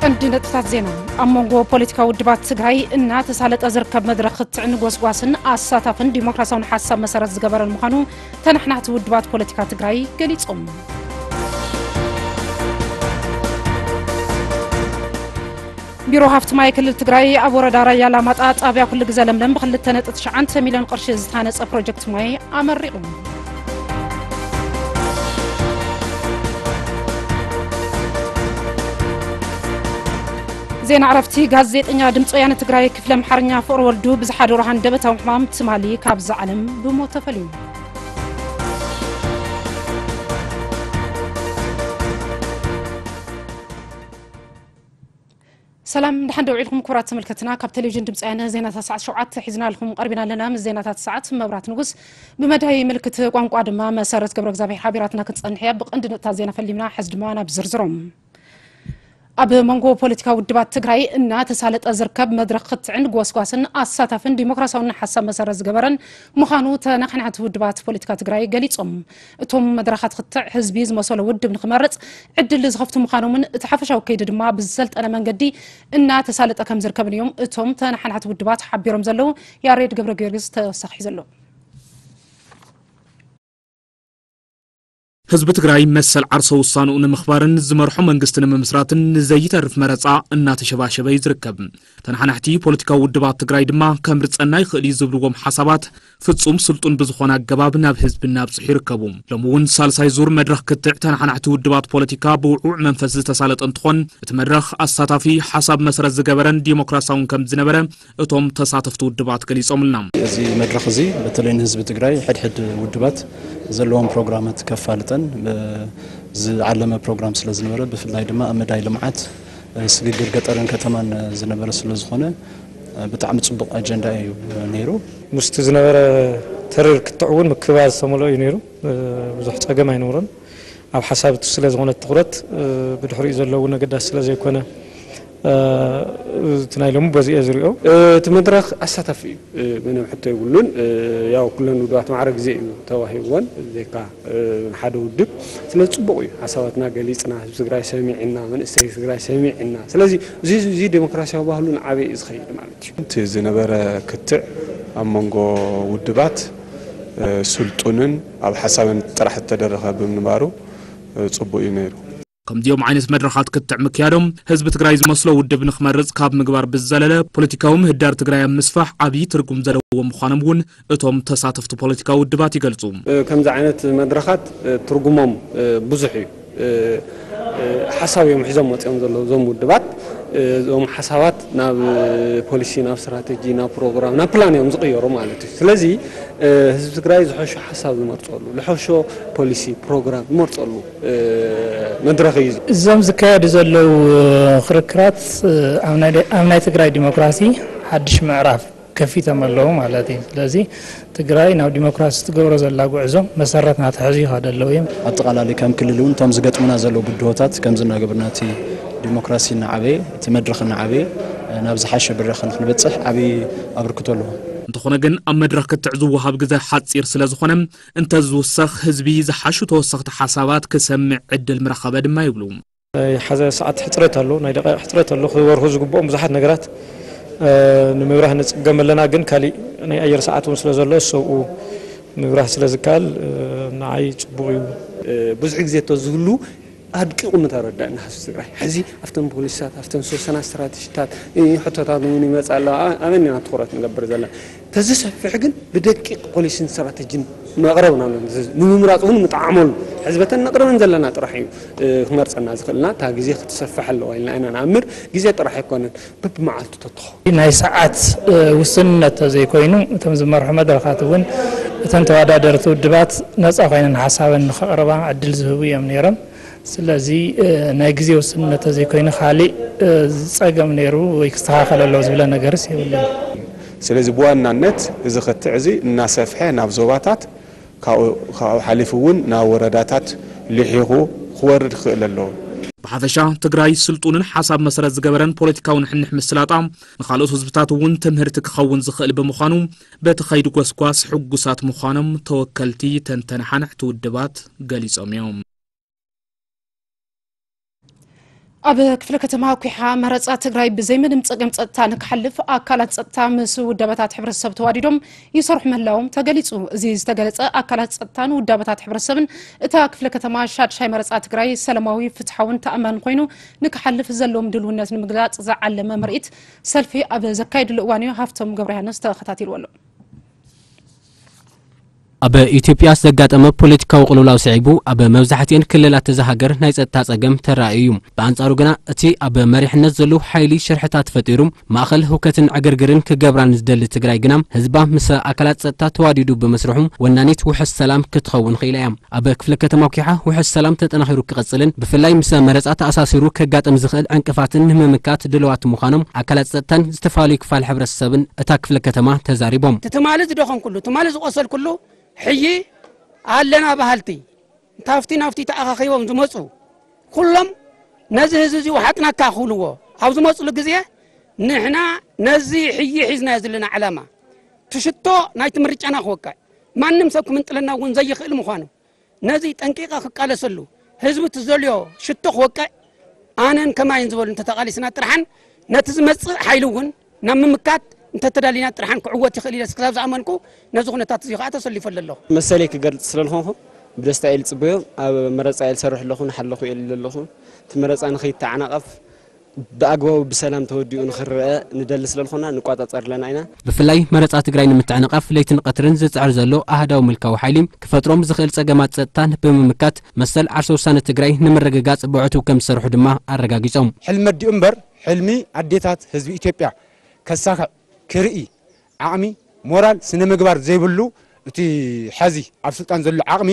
እንዲ ነጥብታት ዜና። ኣብ መንጎ ፖለቲካዊ ውድባት ትግራይ እናተሳለጠ ዝርከብ መድረኽ ክትዕን ጎስጓስን ኣሳታፍን ዲሞክራሲያውን ሓሳብ መሰረት ዝገበረን ምዃኑ ተነሓናሕቲ ውድባት ፖለቲካ ትግራይ ገሊጾም። ቢሮ ሃፍቲ ማይ ክልል ትግራይ ኣብ ወረዳ ራያ ላማጣ ጣብያ ኩሉ ግዘ ለምለም ብክልተ ነጥቢ ትሽዓተ ሚልዮን ቅርሺ ዝተሃነፀ ፕሮጀክት ማይ ኣመሪቑ። ዜና ዕረፍቲ። ጋዜጠኛ ድምፂ ወያነ ትግራይ ክፍለ ኣምሓርኛ ፍቕሪ ወልዱ ብዝሓደሮ ሃንደበታዊ ሕማም ትማሊ ካብዛ ዓለም ብሞት ተፈልዩ። ሰላም፣ ደሓን ዶ ውዒልኩም ክቡራት ተመልከትና? ካብ ቴሌቪዥን ድምፂ ወያነ ዜናታት ሰዓት ሸውዓተ ሒዝናልኩም ቀሪብና ኣለና። ምስ ዜናታት ሰዓት መብራት ንጉስ፣ ብመዳይ ምልክት ቋንቋ ድማ መሰረት ገብረ እግዚኣብሔር ሓቢራትና ክትፀንሕ እያ። ብቐንዲ ነጥብታት ዜና ፈሊምና፣ ሕዚ ድማ ናብ ዝርዝሮም። ኣብ መንጎ ፖለቲካዊ ውድባት ትግራይ እናተሳለጠ ዝርከብ መድረኽ ክትዕን ጎስጓስን ኣሳታፍን ዲሞክራሲያውን ሓሳብ መሰረት ዝገበረን ምዃኑ ተነሓናሕቲ ውድባት ፖለቲካ ትግራይ ገሊጾም። እቶም መድረኻት ክትዕ ህዝቢ ዝመሰሎ ውድብ ንክመርጽ ዕድል ዝኸፍቱ ምዃኖምን እቲ ሓፈሻዊ ከይዲ ድማ ብዝሰልጠነ መንገዲ እናተሳለጠ ከም ዝርከብን እዮም እቶም ተነሓናሕቲ ውድባት ሓቢሮም ዘለዉ። ያሬድ ገብረ ጊዮርጊስ ተወሳኺ ሒዙ ኣሎ። ህዝቢ ትግራይ መሰል ዓርሰ ውሳንኡ ንምኽባርን ዝመርሖ መንግስቲ ንምምስራትን ንዘይተርፍ መረፃ እናተሸባሸበ እዩ ዝርከብ። ተነሓናሕቲ ፖለቲካዊ ውድባት ትግራይ ድማ ከምርፀና ይኽእል እዩ ዝብልዎም ሓሳባት ፍጹም ስልጡን ብዝኾነ ኣገባብ ናብ ህዝቢ እናብፅሑ ይርከቡ። ሎሚ እውን ሳልሳይ ዙር መድረኽ ክትዕ ተነሓናሕቲ ውድባት ፖለቲካ ብውዕውዕ መንፈስ ዝተሳለጠ እንትኾን፣ እቲ መድረኽ ኣሳታፊ፣ ሓሳብ መሰረት ዝገበረን ዲሞክራሲያውን ከም ዝነበረ እቶም ተሳተፍቲ ውድባት ገሊጾምልና። እዚ መድረኽ እዚ በተለይ ንህዝቢ ትግራይ ሕድሕድ ውድባት ዘለዎም ፕሮግራማት ከፋልጠን፣ እ፣ ዝዓለመ ፕሮግራም ስለ ዝነበረ፣ ብፍላይ ድማ ኣብ መዳይ ልምዓት፣ እ፣ ስግግር ገጠርን ከተማን ዝነበረ ስለ ዝኾነ፣ እ፣ ብጣዕሚ ጽቡቕ ኣጀንዳ እዩ ነይሩ። ምስቲ ዝነበረ ተሪር ክትዕ እውን ምክብባር ዝተመልኦ እዩ ነይሩ። እ፣ ብዙሕ ጸገም ኣይነበሮን። ኣብ ሓሳብ እቲ ስለ ዝኾነ ትኹረት፣ እ፣ ብድሕሪኡ ዘለዉ ነገዳት ስለ ዘይኮነ፣ እ፣ እቲ ናይ ሎሚ በዚ እየ ዝሪኦ። እቲ መድረኽ ኣሳታፊ እዩ። እ፣ ምንም ሕቶ የብሉን። እ፣ ያው ኩለን ውድባት ማዕረ ግዜ እዩ ተዋሂብወን፣ ዘይካ፣ እ፣ ሓደ ውድብ። ስለዚ ጽቡቕ እዩ። ሓሳባትና ገሊጽና፣ ህዝቢ ትግራይ ሰሚዕና፣ መንእሰይ ትግራይ ሰሚዕና። ስለዚ እዚ፣ እዚ ዴሞክራሲያዊ ባህሉ ንዓበይ እዩ ዝኸይድ ማለት እዩ። እቲ ዝነበረ ክትዕ ኣብ መንጎ ውድባት፣ እ፣ ስልጡንን ኣብ ሓሳብን ጥራሕ ዝተደረኸ ብምንባሩ፣ እ፣ ጽቡቕ እዩ ነይሩ። ከምዚኦም ዓይነት መድረኻት ክትዕ ምክያዶም ህዝቢ ትግራይ ዝመስሎ ውድብ ንክመርጽ ካብ ምግባር ብዝዘለለ ፖለቲካዊ ምህዳር ትግራይ ኣብ ምስፋሕ ዓብዪ ትርጉም ዘለዎ ምዃኖም እውን እቶም ተሳተፍቲ ፖለቲካዊ ውድባት ይገልጹ። እ፣ ከምዚ ዓይነት መድረኻት፣ እ፣ ትርጉሞም፣ እ፣ ብዙሕ እዩ። እ፣ እ፣ ሓሳብ እዮም ሒዞም መፂኦም ዘለዉ እዞም ውድባት። እ፣ እዞም ሓሳባት ናብ፣ እ፣ ፖሊሲ፣ ናብ ስትራቴጂ፣ ናብ ፕሮግራም፣ ናብ ፕላን እዮም ዝቕየሩ ማለት እዩ። ስለዚ፣ እ፣ ህዝቢ ትግራይ ዝሐሾ ሓሳብ ዝመርፀሉ፣ ዝሐሾ ፖሊሲ፣ ፕሮግራም ዝመርፀሉ፣ እ፣ መድረኽ እዩ። እዞም ዝካየዱ ዘለዉ ክርክራት፣ እ፣ ኣብ ናይ ደ-፣ ኣብ ናይ ትግራይ ዲሞክራሲ ሓድሽ ምዕራፍ ከፊቶም ኣለዉ ማለት እዩ። ስለዚ ትግራይ ናብ ዲሞክራሲ ትገብሮ ዘላ ጉዕዞ መሰረት ናተሐዙ ይኸዱ ኣለዉ እዮም። ኣጠቓላሊ ከም ክልል እውን እቶም ዝገጥሙና ዘለዉ ብድሆታት ከምዚ እናገበርና እቲ ዲሞክራሲ እናዓበየ፣ እቲ መድረኽ እናዓበየ፣ ናብ ዝሓሸ ብራኸ ንክንበፅሕ ዓብዪ ኣበርክቶ ኣለዎ። እንተኾነ ግን ኣብ መድረኽ ክትዕ ዝወሃብ ግዜ ሓፂር ስለ ዝኾነ እንተዝውሰኽ ህዝቢ ዝሓሹ ተወሰኽቲ ሓሳባት ክሰምዕ ዕድል ምረኸበ ድማ ይብሉ። ናይ ሓደ ሰዓት ሕፅረት ኣሎ፣ ናይ ደቂቕ ሕፅረት ኣሎ። ክበርሁ ዝግብኦም ብዙሓት ነገራት፣ እ፣ ንምብራህ ንፅገም ኣለና፣ ግን ካሊእ ናይ ኣየር ሰዓት እውን ስለ ዘሎ ሰብኡ ምብራህ ስለ ዝከኣል፣ እ፣ ንዓይ ፅቡቕ እዩ። እ፣ ብዙሕ ግዜ እቶ ዝህሉ ኣድቂቑ ምተረዳእና ህዝቢ ትግራይ። ሕዚ ኣብተን ፖሊሲታት፣ ኣብተን ዝተወሰና ስትራቴጂታት፣ እ፣ ሕቶታት እውን ይመፅእ ኣሎ። ኣ-፣ ኣበን ኢና ትኹረት ንገብር ዘለና። ተዝሰፍሕ ግን ብደቂቕ ፖሊሲን ስትራቴጂን መቕረብ ናብለን። ንምምራፅ እውን ምጠዓመሉ። ሕዚ በተን ነቕርበን ዘለና ጥራሕ እዩ፣ እ፣ ክመርፀና ዝኽእልና። እታ ግዜ ክትሰፍሕ ኣለዋ ኢልና ኢና ንኣምር። ግዜ ጥራሕ ኣይኮነን፣ በብመዓልቱ ተትኾ። ናይ ሰዓት፣ እ፣ ውስንነት ተዘይኮይኑ፣ እቶም ዝመርሑ መድረኻት እውን እተን ተወዳደርቲ ውድባት ነፃ ኮይነን ሓሳበን ንኸቕርባ ዕድል ዝህቡ እዮም ነይሮም። ስለዚ፣ እ፣ ናይ ግዜ ውስንነት ተዘይኮይኑ፣ ካሊእ፣ እ፣ ዝፀገም ነይሩ ወይ ክስተኻኸል ኣለዎ ዝብለ ነገርስ የብሉን። ስለዚ ብዋናነት እዚ ክትዕ እዚ እናሰፍሐ ናብ ዞባታት፣ ካብኡ፣ ካብኡ ሓሊፉ እውን ናብ ወረዳታት ልሒኹ ክወርድ ክኽእል ኣለዎ። ብሓፈሻ ትግራይ ስልጡንን ሓሳብ መሰረት ዝገበረን ፖለቲካዊ ንሕንሕ ምስላጣ ንኻልኦት ህዝብታት እውን ትምህርቲ ክኸውን ዝኽእል ብምዃኑ በቲ ኸይዲ ጎስጓስ ሕጉሳት ምዃኖም ተወከልቲ ተንተናሓናሕቲ ውድባት ገሊጾም እዮም። ኣብ ክፍለ ከተማ ኩሓ መረፃ ትግራይ ብዘይምንም ፀገም ፀጥታ ንክሓልፍ ኣካላት ፀጥታ ምስ ውዳበታት ሕብረተሰብ ተዋዲዶም ይሰርሑ ምህላዎም ተገሊፁ። እዚ ዝተገለፀ ኣካላት ፀጥታን ውዳበታት ሕብረተሰብን እታ ክፍለ ከተማ ሻድሻይ መረፃ ትግራይ ሰላማዊ፣ ፍትሓውን ተኣማን ኮይኑ ንክሓልፍ ዘለዎም ድልውነት ንምግላፅ ዝዓለመ ምርኢት ሰልፊ ኣብ ዘካየድሉ እዋን እዩ። ሃፍቶም ገብረሃንስ ተኸታቲልዎ ኣሎ። ኣብ ኢትዮጵያ ዘጋጠመ ፖለቲካዊ ቅልውላው ስዒቡ ኣብ መብዛሕትኤን ክልላት እዛ ሃገር ናይ ጸጥታ ጸገም ተራእዩ እዩ። ብኣንጻሩ ግና እቲ ኣብ መሪሕነት ዘለዉ ሓይሊ ሽርሕታት ፈጢሩ ማእኸል ህውከትን ዕግርግርን ክገብራን ዝደሊ ትግራይ ግና ህዝባ ምስ ኣካላት ጸጥታ ተዋዲዱ ብምስርሑ ወናኒት ውሑስ ሰላም ክትኸውን ኽኢላ እያ። ኣብ ክፍለ ከተማ ኲሓ ውሑስ ሰላም ተጠናኺሩ ክቐጽልን ብፍላይ ምስ መረጻ ተኣሳሲሩ ከጋጥም ዝኽእል ዕንቅፋትን ንምምካት ድልዋት ምዃኖም ኣካላት ጸጥታን ዝተፈላለዩ ክፋል ሕብረተሰብን እታ ክፍለ ከተማ ተዛሪቦም። ትማሊ ዝደኸምኩሉ፣ ትማሊ ዝቆሰልኩሉ ሕጂ ኣለና በሃልቲ፣ ታፍቲ ናፍቲ ተኣኻኺቦም ዝመፁ ኩሎም ነዚ ህዝቢ እዚ ውሓጥናካ ክብልዎ ኣብ ዝመፅሉ ግዜ፣ ንሕና ነዚ ሕጂ ሒዝናዮ ዘለና ዕላማ፣ ትሽቶ ናይቲ ምርጫና ክወቅዕ፣ ማንም ሰብ ክምንጥለና እውን ዘይኽእል ምዃኑ፣ ነዚ ጠንቂቐ ክቃለሰሉ፣ ህዝቢ ትዘልዮ ሽቶ ክወቅዕ፣ ኣነን ከማይን ዝበሉ እንተተቓሊስና ጥርሓን፣ ነቲ ዝመጽእ ሓይሊ እውን ናብ ምምካት እንተተዳሊና ጥርሓን ክዕወት ይኽእል ኢለ ክሳብ ዝኣመንኩ፣ ነዚ ኩነታት እዚ ከዓ ተሰሊፈ ኣለኹ። መሰለይ ክገልጽ ስለ ዝኾንኩ፣ ብደስታ እየ ዝጽበዮ። ኣብ መረጻ እየ ዝሰርሕ ኣለኹ፣ ንሓለኹ እየ ዝብል ኣለኹ። እቲ መረጻ ንኸይተዓናቐፍ፣ ብኣግባቡ ብሰላም ተወዲኡ ንኽረአ ንደሊ ስለ ዝኾና፣ ንቋጻጸር ኣለና ኢና። ብፍላይ መረጻ ትግራይ ንምትዕንቓፍ ለይትን ቀትርን ዝጽዕር ዘሎ ኣሃዳዊ ምልካዊ ሓይሊ ክፈጥሮም ዝኽእል ጸገማት ጸጥታን ብምምካት መሰል ዓርሰ ውሳነ ትግራይ ንምርግጋጽ ብዕቱብ ከም ዝሰርሑ ድማ ኣረጋጊጾም። ሕልሚ ኣዲኡ እምበር፣ ሕልሚ ኣዴታት ህዝቢ ኢትዮጵያ ከሳኽዕ፣ ክርኢ ዓቕሚ፣ ሞራል፣ ስነ ምግባር ዘይብሉ፣ እቲ ሐዚ ኣብ ስልጣን ዘሎ ዓቕሚ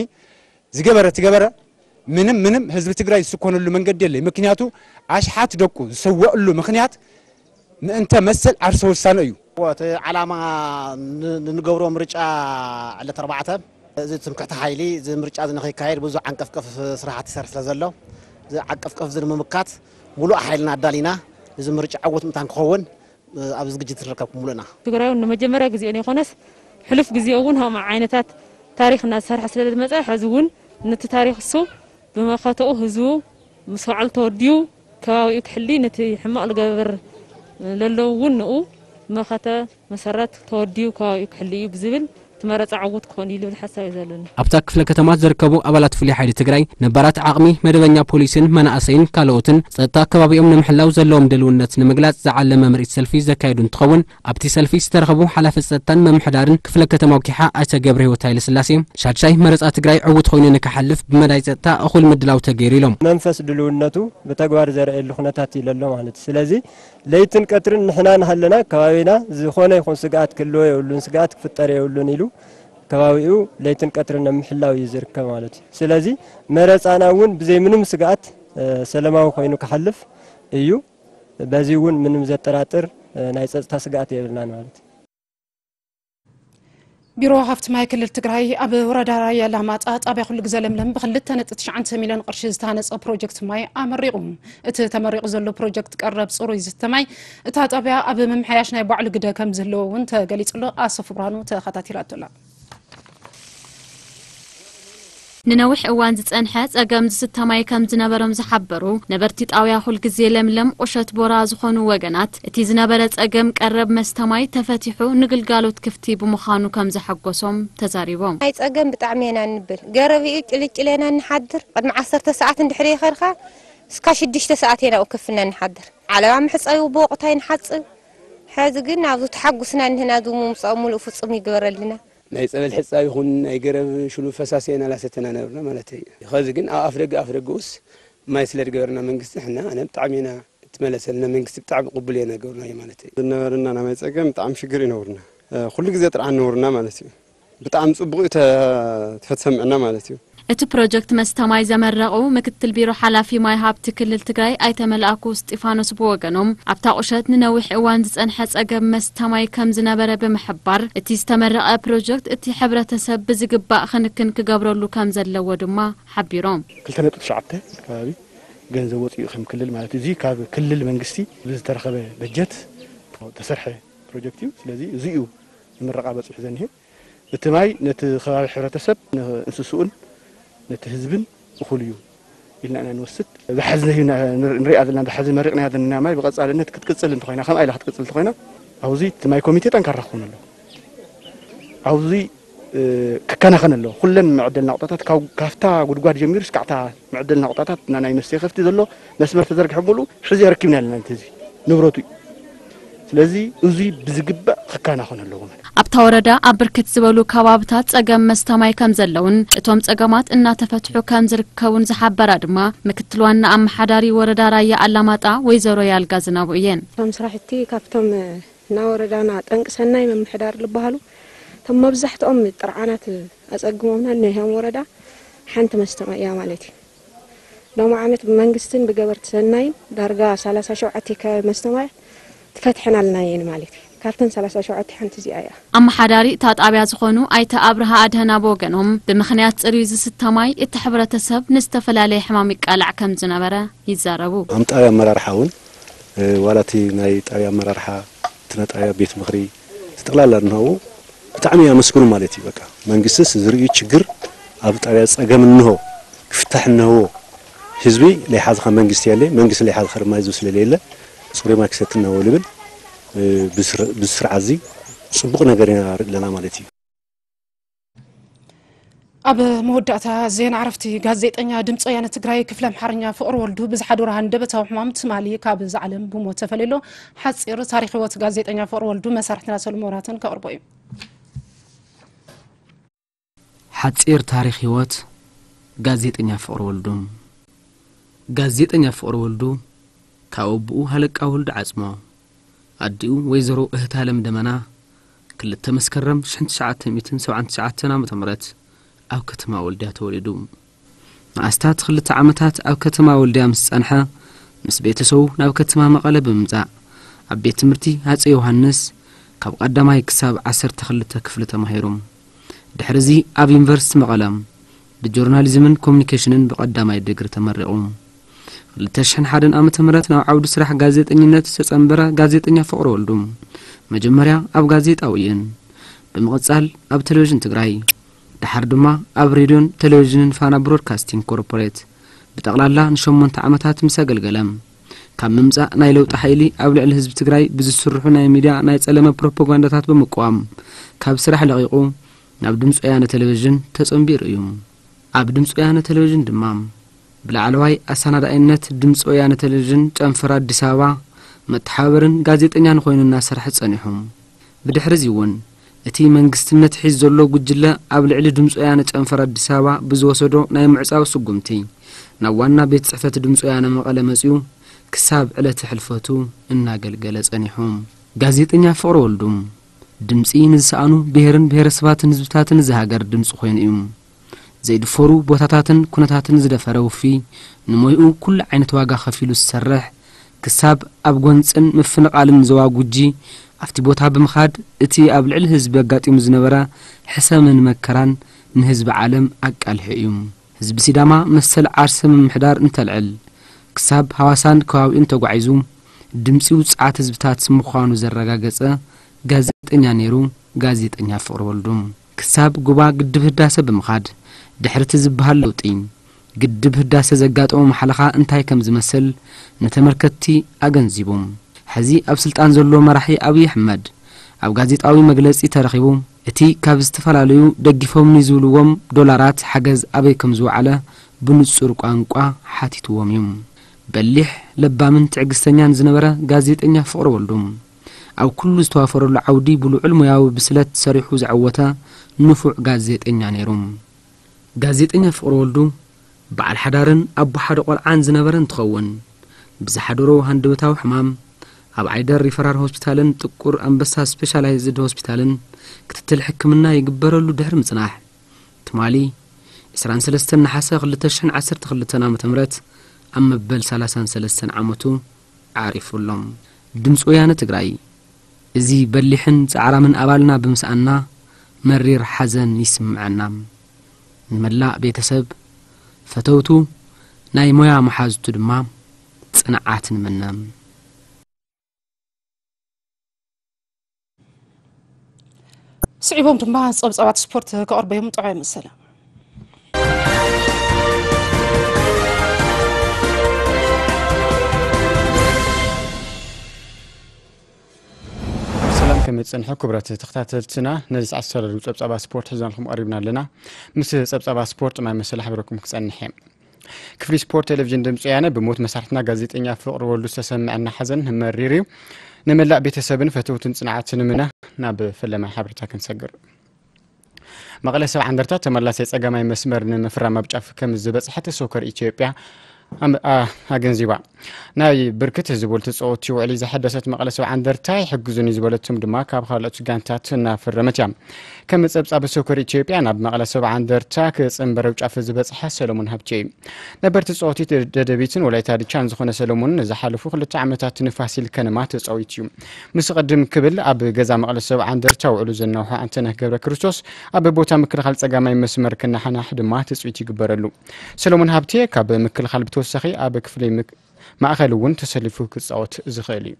ዝገበረ ትገበረ፣ ምንም ምንም ህዝቢ ትግራይ ዝስኮነሉ መንገዲ የለይ። ምክንያቱ ኣሽሓት ደቁ ዝሰወእሉ ምክንያት ምእንተ መሰል ዓርሰ ውሳነ እዩ። እቲ ዓላማ ን-፣ ንንገብሮ ምርጫ ዕለት ኣርባዕተ፣ እዚ ትምክሕቲ ሓይሊ፣ እዚ ምርጫ እዚ ንኸይካየድ ብዙሕ ዓንቀፍቀፍ ስራሕቲ ይሰርሕ ስለ ዘሎ፣ እዚ ዓንቀፍቀፍ እዚ ንምምካት ሙሉእ ሓይልና ኣዳሊና፣ እዚ ምርጫ ዕዉት ምእንታን ክኸውን፣ ኣብዚ ዝግጅት ንርከብ ሙሉእና። ትግራይ እውን ንመጀመርያ ግዜ ዘይኮነስ፣ ሕሉፍ ግዜ እውን ከምኡ ዓይነታት ታሪኽ እናዝሰርሐ ስለ ዝመፀ፣ ሕዚ እውን ነቲ ታሪኽ እሱ ብመኸተኡ ህዝቡ ምስ በዓል ተወዲኡ ከባቢኡ ክሕሊ፣ ነቲ ሕማቕ ዝገብር ለለዉ እውን ንኡ መኸተ መሰረት ተወዲኡ ከባቢኡ ክሕሊ እዩ ብዝብል፣ እቲ መረፃ ዕዉት ክኾን እዩ ዝብል ሓሳብ እዩ ዘለኒ። ኣብታ ክፍለ ከተማ ዝርከቡ ኣባላት ፍሉይ ሓይሊ ትግራይ ነባራት ዓቕሚ፣ መደበኛ ፖሊስን መናእሰይን ካልኦትን ጸጥታ ከባቢኦም ንምሕላው ዘለዎም ድልውነት ንምግላጽ ዝዓለመ ምርኢት ሰልፊ ዘካየዱ እንትኸውን፣ ኣብቲ ሰልፊ ዝተረኸቡ ሓላፊ ጸጥታን ምምሕዳርን ክፍለ ከተማ ኲሓ ኣይተ ገብረህይወት ሃይለስላሴ፣ ሻድሻይ መረጻ ትግራይ ዕዉት ኮይኑ ንክሓልፍ ብመዳይ ጸጥታ እኹል ምድላው ተገይሩ ኢሎም። መንፈስ ድልውነቱ ብተግባር ዘርእየሉ ኩነታት እዩ ዘሎ ማለት እዩ። ስለዚ ለይትን ቀትርን ንሕና እናሃለና ከባቢና ዝኾነ ይኹን ስግኣት ክህልዎ የብሉን፣ ስግኣት ክፍጠር የብሉን ኢሉ ከባቢኡ ለይትን ቀትርን ኣብ ምሕላው እዩ ዝርከብ ማለት እዩ። ስለዚ መረጻና እውን ብዘይ ምንም ስግኣት፣ እ፣ ሰላማዊ ኮይኑ ክሓልፍ እዩ። በዚ እውን ምንም ዘጠራጥር፣ እ፣ ናይ ጸጥታ ስግኣት የብልናን ማለት እዩ። ቢሮ ሃፍቲ ማይ ክልል ትግራይ ኣብ ወረዳ ራያ ኣላማጣ ጣብያ ኩሉ ግዜ ለምለም ብክልተ ነጥቢ ትሽዓተ ሚልዮን ቅርሺ ዝተሃነፀ ፕሮጀክት ማይ ኣመሪቑ። እቲ ተመሪቑ ዘሎ ፕሮጀክት ቀረብ ፅሩይ ዝስተ ማይ እታ ጣብያ ኣብ ምምሕያሽ ናይ ባዕሉ ግደ ከም ዝህልዎ እውን ተገሊፁ ኣሎ። ኣሰፉ ብርሃኑ ተኸታቲላቶ ኣላ። ንነዊሕ እዋን ዝጸንሐ ጸገም ዝስተ ማይ ከም ዝነበሮም ዝሓበሩ ነበርቲ ጣውያ ኩልግዜ ለምለም ቁሸት ቦራ ዝኾኑ ወገናት፣ እቲ ዝነበረ ጸገም ቀረብ መስተ ማይ ተፈቲሑ ንግልጋሎት ክፍቲ ብምዃኑ ከም ዘሐጎሶም ተዛሪቦም። ናይ ጸገም ብጣዕሚ ኢና እንብል። ገረብ እዩ፣ ጭልጭል ኢና እንሓድር። ቅድሚ ዓሰርተ ሰዓት እንድሕር ይኸድካ፣ እስካ ሽዱሽተ ሰዓት ኢና ኣብ ከፍና እንሓድር። ዓለባ መሕጸቢ ብወቕቱ ኣይንሓጽብ። ሕዚ ግን ኣብዚ ተሓጉስና እንህና፣ እዚ ምምጻኡ ሙሉእ ፍጹም ይግበረልና። ናይ ጸበል ሕጻብ ይኹን ናይ ገረብ ሽሉ ፈሳሲ ኢና ላሰተና ነበርና ማለት እዩ። ኸዚ ግን ኣብ ኣፍደገ፣ ኣፍደገኡስ ማይ ስለ ዝገበርና መንግስቲ፣ ሕና ኣነ ብጣዕሚ ኢና እትመለሰልና መንግስቲ ብጣዕሚ ቅቡል እየ ነገርና እዩ ማለት እዩ። ዝነበረና ናይ ማይ ጸገም ብጣዕሚ ሽግር እዩ ነብርና። እ፣ ኩሉ ግዜ ጥርዓን ነብርና ማለት እዩ። ብጣዕሚ ጽቡቕ እዩ ተ-፣ ተፈትሰምዕና ማለት እዩ። እቲ ፕሮጀክት መስተ ማይ ዘመረቑ ምክትል ቢሮ ሓላፊ ማይ ሃብቲ ክልል ትግራይ ኣይተ መልኣኩ እስጢፋኖስ ብወገኖም፣ ኣብታ ቁሸት ንነዊሕ እዋን ዝጸንሐ ጸገም መስተ ማይ ከም ዝነበረ ብምሕባር፣ እቲ ዝተመረቐ ፕሮጀክት እቲ ሕብረተሰብ ብዝግባእ ክንክን ክገብረሉ ከም ዘለዎ ድማ ሓቢሮም። ክልተ ነጥቢ ትሽዓተ ከባቢ ገንዘብ ወፂኡ ከም ክልል ማለት፣ እዚ ካብ ክልል መንግስቲ ብዝተረኸበ በጀት ዝተሰርሐ ፕሮጀክት እዩ። ስለዚ እዚ እዩ ንምረቓ በፂሑ ዘኒሄ። እቲ ማይ ነቲ ከባቢ ሕብረተሰብ፣ ንእንስስኡን ነቲ ህዝብን እኹል እዩ ኢልና ኢና ንወስድ። ብሓዚ ንሪኣ ዘለና፣ ብሓዚ መሪቕናያ ዘለና ማይ ብቐጻልነት ክትቅጽል እንተኾይና፣ ከምኣ ኢላ ክትቅጽል እንተኾይና፣ ኣብዚ እቲ ማይ ኮሚቴ ጠንካራ ክኾን ኣለዎ። ኣብዚ ክከናኸን ኣለዎ። ኩለን መዕደል ናቑጣታት ካብታ ጉድጓድ ጀሚሩ እስካዕታ መዕደል ናቑጣታት ናይ መስተይ ከፍቲ ዘሎ መስመር ተዘርግሐ ሙሉ ሕዚ ኣረኪብና ኣለና። ነቲ ህዝቢ ንብረቱ እዩ። ስለዚ እዙይ ብዝግባእ ክከናኸን ኣለዎ ማለት። ኣብታ ወረዳ ኣብ ብርክት ዝበሉ ከባብታት ጸገም መስተ ማይ ከም ዘለውን እቶም ጸገማት እናተፈትሑ ከም ዝርከቡን ዝሓበራ ድማ ምክትል ዋና ኣመሓዳሪ ወረዳ ራያ ኣላማጣ ወይዘሮ ያልጋ ዝናቡ እየን። እቶም ስራሕቲ ካብቶም እና ወረዳና ጠንቂ ሰናይ ምምሕዳር ዝበሃሉ እቶም መብዛሕትኦም ጥርዓናት ኣጸግሞምና እኒሆም ወረዳ ሓንቲ መስተ ማይ እያ ማለት እዩ። ሎሚ ዓመት ብመንግስትን ብገበርቲ ሰናይን ዳርጋ ሰላሳ ሸውዓተ ከባቢ መስተ ማይ ትፈትሐናልና እየን ማለት እዩ። ካብተን ሰላሳ ሸውዓተ ሓንቲ እዚኣ እያ። ኣመሓዳሪ እታ ጣብያ ዝኾኑ ኣይተ ኣብርሃ ኣድህና ብወገኖም ብምኽንያት ጽሩይ ዝስተ ማይ እቲ ሕብረተሰብ ንዝተፈላለየ ሕማም ይቃላዕ ከም ዝነበረ ይዛረቡ። ኣምጣሪ ኣመራርሓ እውን ዋላ እቲ ናይ ጣብያ ኣመራርሓ፣ እቲ ናይ ጣብያ ቤት ምኽሪ፣ እቲ ጠቕላላ እንሃቦ ብጣዕሚ ኣመስግኑ ማለት እዩ። በቃ መንግስትስ ዝርእዩ ችግር ኣብ ጣብያ ጸገም እንሆ ክፍታሕ እንሆዎ ህዝቢ ለይሓዝኻ መንግስቲ የለ፣ መንግስቲ ለይሓዝኻ ድማ ህዝቢ ስለለየለ ጽሩይ ማይ ክሰቲ እንሆዎ ልብል ብስርዓት እዚ ጽቡቕ ነገር ኢና ንርኢ ኣለና ማለት እዩ። ኣብ መወዳእታ ዜና ዕረፍቲ ጋዜጠኛ ድምፂ ወያነ ትግራይ ክፍለ ኣምሓርኛ ፍቕሪ ወልዱ ብዝሓደሮ ሃንደበታዊ ሕማም ትማሊ ካብዛ ዓለም ብሞት ተፈልዩ ኣሎ። ሓፂር ታሪክ ህይወት ጋዜጠኛ ፍቕሪ ወልዱ መሳርሕትና ሰሉም መብራህተን ከቕርቦ እዩ። ሓፂር ታሪክ ህይወት ጋዜጠኛ ፍቕሪ ወልዱ። ጋዜጠኛ ፍቕሪ ወልዱ ካብ ኣቦኡ ሃለቃ ወልዱ ዓፅሞ፣ ኣዲኡ ወይዘሮ እህታለም ደመና፣ ክልተ መስከረም ሽሕን ትሽዓተ ሚእትን ሰብዓን ትሽዓተን ዓመተ ምህረት ኣብ ከተማ ወልድያ ተወሊዱ። ንኣስታት ክልተ ዓመታት ኣብ ከተማ ወልድያ ምስ ጸንሐ፣ ምስ ቤተሰቡ ናብ ከተማ መቐለ ብምምጻእ፣ ኣብ ቤት ትምህርቲ ሃጸይ ዮሃንስ ካብ ቀዳማይ ክሳብ ዓሰርተ ክልተ ክፍሊ ተማሂሩ። ድሕርዚ ኣብ ዩኒቨርሲቲ መቐለ ብጆርናሊዝምን ኮሙኒኬሽንን ብቐዳማይ ዲግሪ ተመሪቑ። ክልተ ሽሕን ሓደን ዓመተ ምህረት ናብ ዓውዲ ስራሕ ጋዜጠኝነት ዝተጸንበረ ጋዜጠኛ ፍቕሪ ወልዱ፣ መጀመርያ ኣብ ጋዜጣ ወይን፣ ብምቕጻል ኣብ ቴሌቪዥን ትግራይ፣ ደሓር ድማ ኣብ ሬድዮን ቴሌቪዥንን ፋና ብሮድካስቲንግ ኮርፖሬት ብጠቕላላ ንሸሞንተ ዓመታት ምስ ኣገልገለ፣ ካብ ምምጻእ ናይ ለውጢ ሓይሊ ኣብ ልዕሊ ህዝቢ ትግራይ ብዝስርሑ ናይ ሚድያ ናይ ጸለመ ፕሮፓጋንዳታት ብምቅዋም ካብ ስራሕ ለቒቑ ናብ ድምፂ ወያነ ቴሌቪዥን ተጸንቢሩ እዩ። ኣብ ድምፂ ወያነ ቴሌቪዥን ድማ ብላዕለዋይ ኣሰናዳኢነት ድምፂ ወያነ ቴሌቪዥን ጨንፈር ኣዲስ ኣበባ መተሓባበርን ጋዜጠኛን ኮይኑ እናሰርሐ ጸኒሑ። ብድሕሪ እዚ እውን እቲ መንግስትነት ሒዝ ዘሎ ጉጅለ ኣብ ልዕሊ ድምፂ ወያነ ጨንፈር ኣዲስ ኣበባ ብዝወሰዶ ናይ ምዕጻው ስጉምቲ ናብ ዋና ቤት ጽሕፈት ድምፂ ወያነ መቐለ መጺኡ ክሳብ ዕለተ ሕልፈቱ እናገልገለ ጸኒሑ። ጋዜጠኛ ፍቕሪ ወልዱ ድምፂ ንዝሰኣኑ ብሄርን ብሄረሰባትን ህዝብታትን እዚ ሃገር ድምፂ ኮይኑ እዩ። ዘይድፈሩ ቦታታትን ኩነታትን ዝደፈረ ውፉይ ንሞይኡ ኩሉ ዓይነት ዋጋ ከፊሉ ዝሰርሕ፣ ክሳብ ኣብ ጎንፅን ምፍንቓልን ዞባ ጉጂ ኣብቲ ቦታ ብምኻድ እቲ ኣብ ልዕሊ ህዝቢ ኣጋጢሙ ዝነበረ ሕሰምን መከራን ንህዝቢ ዓለም ኣቃልሑ እዩ። ህዝቢ ሲዳማ መሰል ዓርሰ ምምሕዳር እንተልዕል ክሳብ ሃዋሳን ከባቢኡን ተጓዒዙ ድምፂ ውፅዓት ህዝብታት ምዃኑ ዘረጋገፀ ጋዜጠኛ ነይሩ። ጋዜጠኛ ፍቕሪ ወልዱ ክሳብ ጉባ ግድብ ህዳሰ ብምኻድ ድሕሪ እቲ ዝበሃል ለውጢ ግድብ ህዳሰ ዘጋጠሞ ማሕለኻ እንታይ ከም ዝመስል ንተመልከትቲ ኣገንዚቡ። ሕዚ ኣብ ስልጣን ዘሎ መራሒ ኣብይ ኣሕመድ ኣብ ጋዜጣዊ መግለጺ ተረኺቡ እቲ ካብ ዝተፈላለዩ ደጊፎምኒ ዝብልዎም ዶላራት ሓገዝ ኣበይ ከም ዝወዓለ ብንጹር ቋንቋ ሓቲትዎም እዩ። በሊሕ፣ ለባምን ትዕግስተኛን ዝነበረ ጋዜጠኛ ፍቕሪ ወልዱ ኣብ ኩሉ ዝተዋፈረሉ ዓውዲ ብልዑል ሞያዊ ብስለት ሰሪሑ ዘዐወተ ንፉዕ ጋዜጠኛ ነይሩ። ጋዜጠኛ ፍቕሪ ወልዱ በዓል ሓዳርን ኣቦ ሓደ ቆልዓን ዝነበረ እንትኸውን ብዝሓደሮ ሃንደበታዊ ሕማም ኣብ ዓይደር ሪፈራል ሆስፒታልን ጥቁር ኣንበሳ ስፔሻላይዝድ ሆስፒታልን ክትትል ሕክምና ይግበረሉ ድሕሪ ምጽናሕ ትማሊ ዕስራን ሰለስተን ነሓሰ ክልተ ሽሕን ዓሰርተ ክልተን ዓመተ ምህረት ኣብ መበል ሰላሳን ሰለስተን ዓመቱ ዓሪፉ ኣሎ። ድምፂ ወያነ ትግራይ፣ እዚ በሊሕን ፃዕራምን ኣባልና ብምስኣንና መሪር ሓዘን ይስምዐና። ንመላእ ቤተሰብ፣ ፈተውቱ፣ ናይ ሞያ መሓዙቱ ድማ ፅንዓት ንምነ። ስዒቦም ድማ ፀብፃባት ስፖርት ከቕርበዮም ጥዑይ መሰለ። ከመይ ትጸንሑ ክቡራት ተኸታተልትና? ነዚ ሰዓት ዝተዳለዉ ጸብጻባት ስፖርት ሒዝናልኩም ቀሪብና ኣለና። ምስ ጸብጻባት ስፖርት ማይ መሰል ሓቢረኩም ክጸንሕ እየ። ክፍሊ ስፖርት ቴሌቪዥን ድምፂ ወያነ ብሞት መሳርሕትና ጋዜጠኛ ፍቕሪ ወልዱ ዝተሰምዐና ሓዘን መሪር እዩ። ንመላእ ቤተሰብን ፈተውትን ጽንዓት ንምነ። ናብ ፈለማይ ሓበሬታ ክንሰግር። መቐለ ሰብዓ እንደርታ ተመላሳይ ጸጋማይ መስመር ንምፍራም ኣብ ጫፍ ከም ዝበጽሐት ሶከር ኢትዮጵያ ኣም-፣ ኣ-፣ ኣገንዚባ። ናይ ብርክት ዝበሉ ተጻወትቲ ውዕሊ ዘሐደሰት መቐለ ሰብዓ እንደርታ ይሕግዙኒ ዝበለቶም ድማ ካብ ካልኦት ጋንታት እናፈረመት እያ። ከም ጸብጻብ ሶከር ኢትዮጵያ ናብ መቐለ ሰብዓ እንደርታ ክጽንበር ኣብ ጫፍ ዝበጽሐ ሰለሞን ሃብቴ እዩ። ነበር ተጻወቲ ደደቢትን ወላይታ ድቻን ዝኾነ ሰለሞን ንዝሓለፉ ክልተ ዓመታት ንፋሲል ከነማ ተጻዊቱ እዩ። ምስ ቅድም ክብል ኣብ ገዛ መቐለ ሰብዓ እንደርታ ውዕሉ ዘናውሖ ኣንተነህ ገብረ ክርስቶስ ኣብ ቦታ ምክልኻል ጸጋማይ መስመር ክነሓናሕ ድማ ትጽቢት ይግበረሉ። ሰለሞን ሃብቴ ካብ ምክልኻል ብተወሳኺ ኣብ ክፍሊ ምክ-፣ ማእኸል እውን ተሰሊፉ ክጻወት ዝኽእል እዩ።